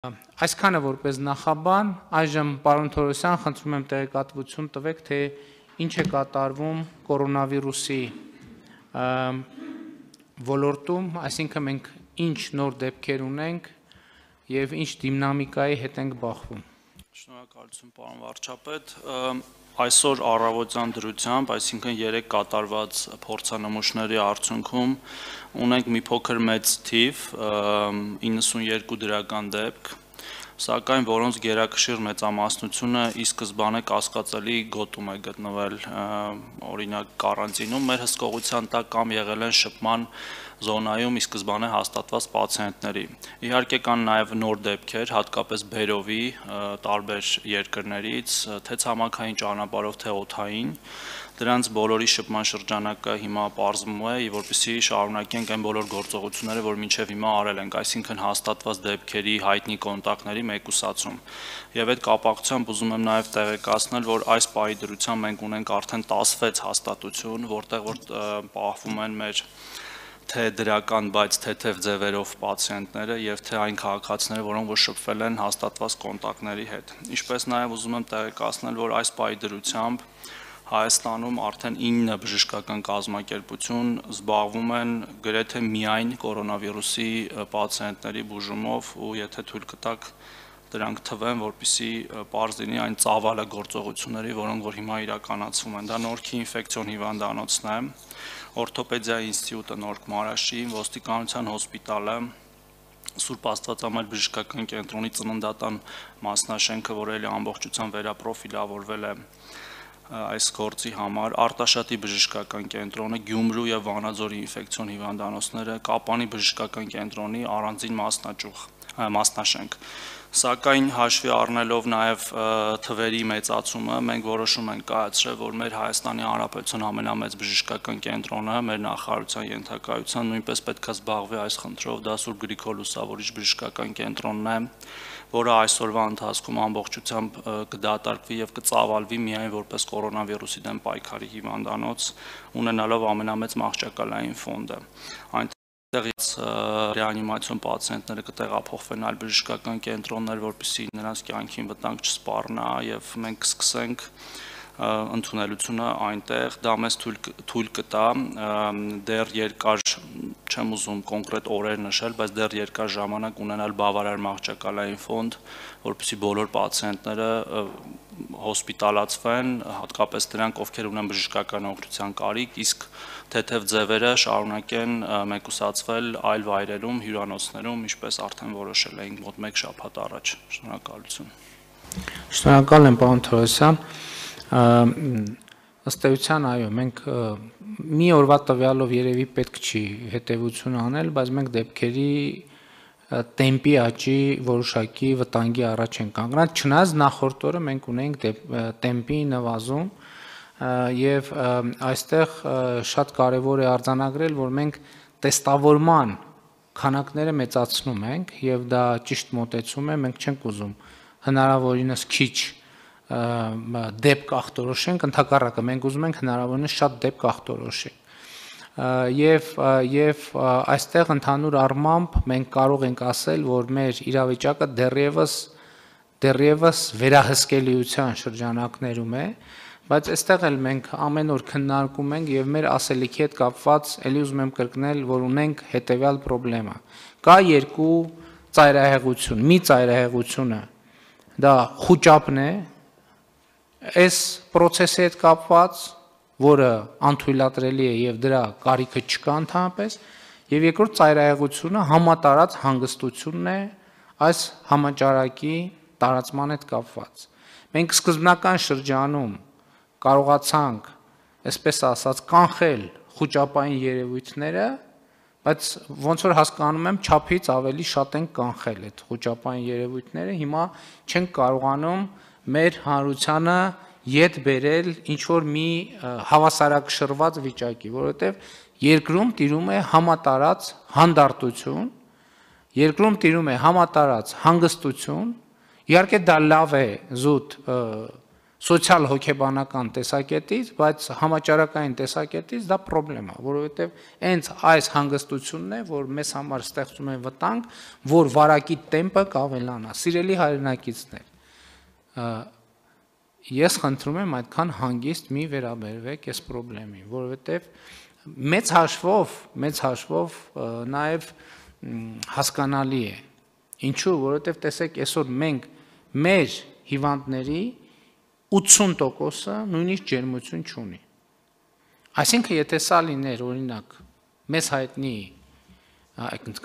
Այսքանը որպես նախաբան, այժմ պարոն Թորոսյան, խնդրում եմ տեղեկատվություն տվեք, թե ինչ է կատարվում կորոնավիրուսի ոլորտում, այսինքն մենք ինչ նոր դեպքեր ունենք եւ ինչ դինամիկայի հետ ենք բախվում։ Շնորհակալություն, պարոն վարչապետ։ Այսօր առավոտյան դրությամբ, այսինքն 3 կատարված փորձանմուշների արդյունքում ունենք մի փոքր մեծ թիվ, 92 դրական դեպք, սակայն որոնց գերակշիռ մեծամասնությունը ի սկզբանե կասկածելի գոտում է գտնվել, օրինակ կարանտինում, մեր հսկողության տակ կամ եղել են շփման զոնայում ի սկզբանե հաստատված պացիենտների։ Իհարկե կան նաև նոր դեպքեր, հատկապես բերովի տարբեր երկրներից, թե ցամաքային ճանապարհով, թե օդային, դրանց բոլորի շփման շրջանակը հիմա պարզվում է, որպեսզի շարունակենք այն բոլոր գործողությունները, որ մինչև հիմա արել ենք, այսինքն հաստատված դեպքերի հայտնի կոնտակտների մեկուսացում։ Եվ այդ կապակցությամբ ուզում եմ նաև տեղեկացնել, որ այս պահի դրությամբ մենք ունենք արդեն 16 հաստատություն, որտեղ որ պահվում են մեր թե դրական, բայց թեթև ձևերով պացիենտները եւ թե այն քաղաքացիները, որոնք որ շփվել են հաստատված կոնտակտների հետ։ Ինչպես նաև ուզում եմ տեղեկացնել, որ այս պահի դրությամբ Հայաստանում արդեն 9 բժշկական կազմակերպություն զբաղվում են գրեթե միայն կորոնավիրուսի պացիենտների բուժումով ու եթե թույլ կտակ դրանք թվեն, որպեսզի պարզ լինի այն ծավալը գործողությունների, որոնք որ հիմա իրականացվում են։ Դա Նորքի ինֆեկցիոն հիվանդանոցն է, Օրթոպեդիայի ինստիտուտը Նորք Մարաշի, ոստիկանության հոսպիտալը, Սուրբ Աստվածամայր բժշկական կենտրոնի ծննդատան մասնաշենքը, որը էլի ամբողջությամբ վերապրոֆիլավորվել է այս գործի համար, Արտաշատի բժշկական կենտրոնը, Գյումրու եւ Վանաձորի ինֆեկցիոն հիվանդանոցները, Կապանի բժշկական կենտրոնի առանձին մասնաշենք։ Սակայն հաշվի առնելով նաև թվերի մեծացումը, մենք որոշում ենք կայացրել, որ մեր Հայաստանի Հանրապետության ամենամեծ բժշկական կենտրոնը, մեր նախարարության ենթակայության նույնպես պետք է զբաղվի այս խնդրով, դա Սուրբ Գրիգոր Լուսավորիչ բժշկական կենտրոնն է, որը այսօրվա ընթացքում ամբողջությամբ կդատարկվի եւ կծավալվի միայն որպես կորոնավիրուսի դեմ պայքարի հիվանդանոց, ունենալով ամենամեծ մահճակալային ֆոնդը։ Այնտեղից ռեանիմացիոն պացիենտները կտեղափոխվեն այլ բժշկական կենտրոններ, որպեսզի նրանց կյանքին վտանգ չսպառնա եւ մենք կսկսենք ընդունելությունը այնտեղ, դա մեզ թույլ կտա դեռ երկար, չեմ ուզում կոնկրետ օրեր նշել, բայց դեռ երկար ժամանակ ունենալ բավարար մահճակալային ֆոնդ, որպեսզի բոլոր պացիենտները հոսպիտալացվեն, հատկապես դրանք, ովքեր ունեն բժշկական օգնության կարիք, իսկ թեթև ձևերը շարունակեն մեկուսացվել այլ վայրերում, հյուրանոցներում, ինչպես արդեն որոշել էինք մոտ 1 շաբաթ առաջ։ Շնորհակալություն։ Շնորհակալ եմ, պարոն Թորոսյան։ Ըստ էության, այո, մենք մի օրվա տվյալով երևի պետք չի հետևություն անել, բայց մենք դեպքերի տեմպի աճի որոշակի վտանգի առաջ ենք կանգնած, չնայած նախորդ օրը մենք ունենք տեմպի նվազում եւ այստեղ շատ կարեւոր է արձանագրել, որ մենք տեստավորման քանակները մեծացնում ենք եւ դա ճիշտ մոտեցում է, մենք չենք ուզում հնարավորինս քիչ դեպք ախտորոշենք, ընդհակառակը մենք ուզում ենք հնարավորինս շատ դեպք ախտորոշենք եւ այստեղ ընդհանուր առմամբ մենք կարող ենք ասել, որ մեր իրավիճակը դեռևս վերահսկելիության շրջանակներում է, բայց այստեղ էլ մենք ամեն օր քննարկում ենք եւ մեր ասելիքի հետ կապված ելի ուզում եմ կրկնել, որ ունենք հետեւյալ խնդրեմա։ Կա երկու ծայրահեղություն, մի ծայրահեղությունը դա խուճապն է, այս process-ի հետ կապված, որը անթույլատրելի է եւ դրա կարիքը չկա ընդհանրապես, եւ երկրորդ ծայրահեղությունը համատարած հանգստությունն է այս համաճարակի տարածման հետ կապված։ Մենք սկզբնական շրջանում կարողացանք, այսպես ասած, կանխել խուճապային երևույթները, բայց ոնց որ հասկանում եմ, չափից ավելի շատ են կանխել այդ խուճապային երևույթները, հիմա չենք կարողանում մեր հանրությանը ետ բերել ինչ որ մի հավասարակշռված վիճակի, որովհետև երկրում տիրում է համատարած հանդարտություն, երկրում տիրում է համատարած հանգստություն, իհարկե դա լավ է զուտ սոցիալ հոգեբանական տեսակետից, բայց համաճարակային տեսակետից դա խնդրեմ է, որովհետև հենց այս հանգստությունն է, որ մեզ համար ստեղծում է վտանգ, որ վարակի տեմպը կավելանա։ Սիրելի հայրենակիցներ, ես խնդրում եմ այդքան հանգիստ մի վերաբերվեք այս խնդրին, որովհետև մեծ հաշվով նաև հասկանալի է։ Ինչու, որովհետև տեսեք, այսօր մենք մեր հիվանդների 80%-ը նույնիսկ ջերմություն չունի։ Այսինքն, եթե սա լիներ, օրինակ, մեզ հայտնի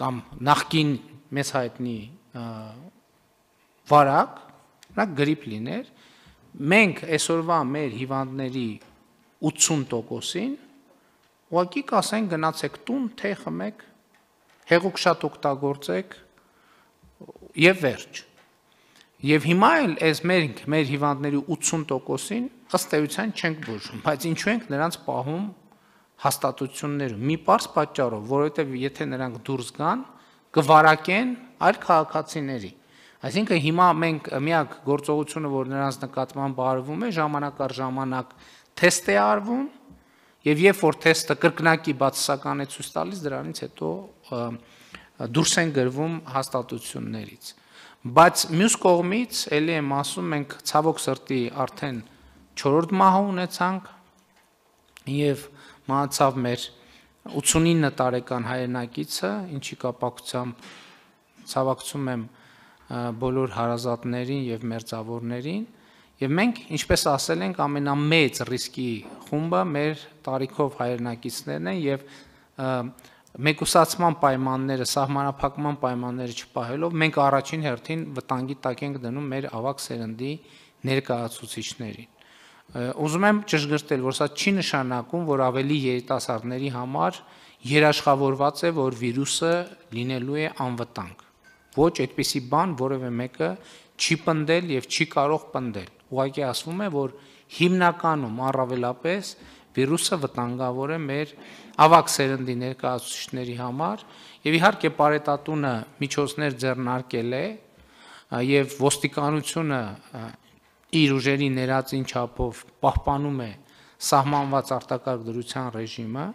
կամ նախկին մեզ հայտնի վարակ, նա գրիպ լիներ, մենք այսօրվա մեր հիվանդների 80%-ին ուղղակի կասենք գնացեք տուն, թե խմեք, հեղուկ շատ օգտագործեք եւ վերջ։ Եվ հիմա էլ այս մեր հիվանդների 80%-ին ըստ էության չենք բուժում, բայց ինչու ենք նրանց պահում հաստատություններում։ Մի պարզ պատճառով, որովհետև եթե նրանք դուրս գան, կվարակեն այլ քաղաքացիների։ Այսինքն հիմա մենք միակ գործողությունը, որ նրանց նկատմամբ արվում է, ժամանակ առ ժամանակ թեստ է արվում, եւ երբ որ թեստը կրկնակի բացասական է ցույց տալիս, դրանից հետո դուրս են գրվում հաստատություններից։ Բայց մյուս կողմից, ելի եմ ասում, մենք ցավոք սրտի արդեն 4-րդ մահը ունեցանք եւ մահացավ մեր 89 տարեկան հայրենակիցը, ինչի կապակցությամբ ցավակցում եմ բոլոր հարազատներին եւ մերձավորներին, եւ մենք, ինչպես ասել ենք, ամենամեծ ռիսկի խումբը մեր տարիքով հայրենակիցներն են եւ մեկուսացման պայմանները, սահմանափակման պայմանները չպահելով, մենք առաջին հերթին վտանգի տակ ենք դնում մեր ավագ սերնդի ներկայացուցիչներին։ Ուզում եմ ճշգրտել, որ սա չի նշանակում, որ ավելի երիտասարդների համար երաշխավորված է, որ վիրուսը լինելու է անվտանգ։ Ոչ այդպիսի բան որևէ մեկը չի պնդել եւ չի կարող պնդել։ Ուղղակի ասվում է, որ հիմնականում առավելապես վիրուսը վտանգավոր է մեր ավագ սերնդի ներկայացուցիչների համար եւ իհարկե պարետատունը միջոցներ ձեռնարկել է եւ ոստիկանությունը իր ուժերի ներածին չափով պահպանում է սահմանված արտակարգ դրության ռեժիմը,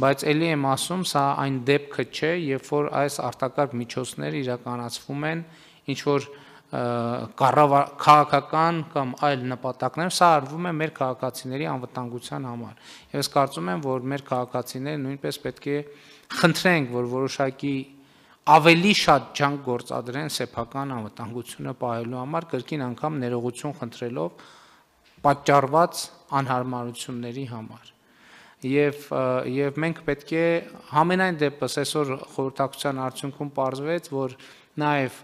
բայց ելի եմ ասում, սա այն դեպքը չէ, երբ որ այս արտակարգ միջոցները իրականացվում են ինչ որ քաղաքական կամ այլ նպատակներ, սա արվում է մեր քաղաքացիների անվտանգության համար։ Եվ ես կարծում եմ, որ մեր քաղաքացիները նույնպես պետք է խնդրենք, որ որոշակի ավելի շատ ջանք գործադրեն սեփական անվտանգությունը պահելու համար, կրկին անգամ ներողություն խնդրելով պատճառված անհարմարությունների համար։ Եվ մենք պետք է համենայն դեպս այսօր խորհրդակցության արդյունքում պարզվեց, որ նաև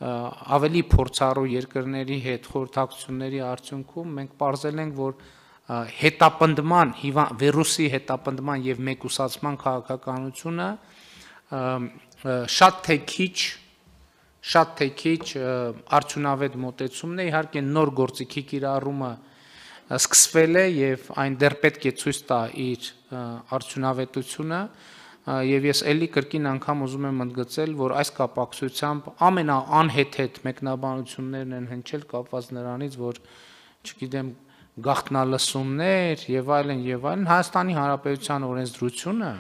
ավելի փորձառու երկրների հետ խորհրդակցությունների արդյունքում մենք պարզել ենք, որ հետապնդման, վիրուսի հետապնդման եւ մեկուսացման քաղաքականությունը շատ թե քիչ արդյունավետ մոտեցումն է, իհարկե նոր գործիքի կիրառումը սկսվել է եւ այն դեռ պետք է ցույց տա իր արդյունավետությունը եւ ես էլի կրկին անգամ ուզում եմ ընդգծել, որ այս կապակցությամբ ամենաանհեթեթ մեկնաբանություններն են հնչել կապված նրանից, որ չգիտեմ գաղտնալսումներ եւ այլն Հայաստանի Հանրապետության օրենսդրությունը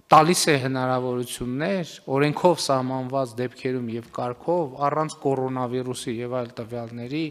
տալիս է հնարավորություններ օրենքով սահմանված դեպքերում եւ կարգով առանց կորոնավիրուսի եւ այլ տվյալների